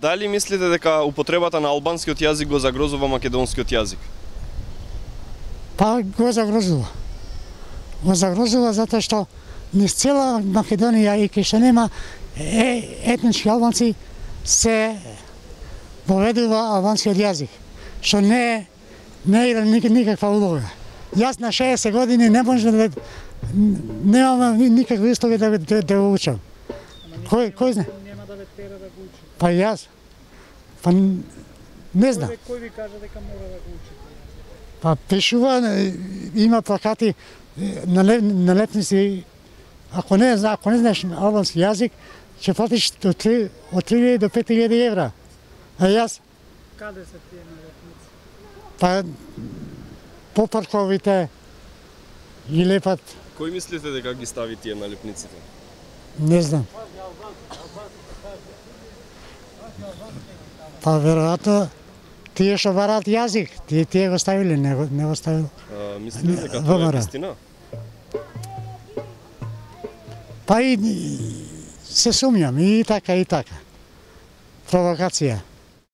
Дали мислите дека употребата на албанскиот јазик го загрозува македонскиот јазик? Па го загрозува. Го загрозува затоа што низ цела Македонија и кај што нема етнички албанци се поведува албанскиот јазик, што не игра никаква улога. Јас на 60 години не можам да немам никакви услови да го учам. Кој знае? Нема да ве тера да го учите. Па јас. Па не знам. Кој ви кажа дека мора да го учите? Па пишува, има плакати на летници. Ако не знаеш албански јазик, ќе платиш од 3000 до 5000 евра. А јас? Каде се тие налетници? Па по парковите ги лепат. Кој мислите дека ги стави тие налепниците? Не знам. Па веројатно тие што бараат јазик, тие го ставиле, не го ставил. Мислите дека тоа е вистина? Па и се сумњам, и така. Провокација.